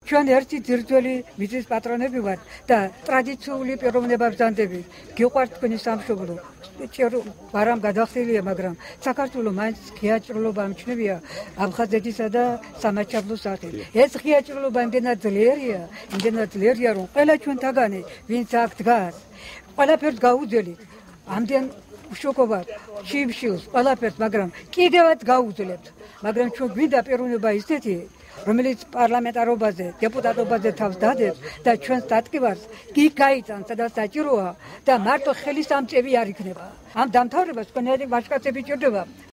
ჩვენ ერთი ძირითელი მიზნის პატრონები ვართ და ტრადიციული პიროვნებებს ვზანდებით. გიყვართ თქვენი სამშობლო. ვარამ გადახდილია, მაგრამ საქართველოს მაინც ღია ჭრილობა ამჩნევია აფხაზეთისა და სამაჩაბლოს სახით. ეს ღია ჭრილობა იმდენად ძლიერია, რომ ყველა ჩვენთაგანი, ვინც აქ დგას, ყველაფერს გაუძველით. ამდენ უშოქობად, შიმშილს, ყველაფერს, მაგრამ კიდევაც გაუძლებთ. მაგრამ ჩვენ გვინდა პიროვნება ისეთი, რომელიც პარლამენტარობაზე, დეპუტატობაზე თავს დადებს და ჩვენს დატკივარს კი გაიწანს, სადაც საჭიროა და მარტო ხელის ამწევი არ იქნება. ამ დამთავრებას თქვენები ვაჟკაცები ჭირდება.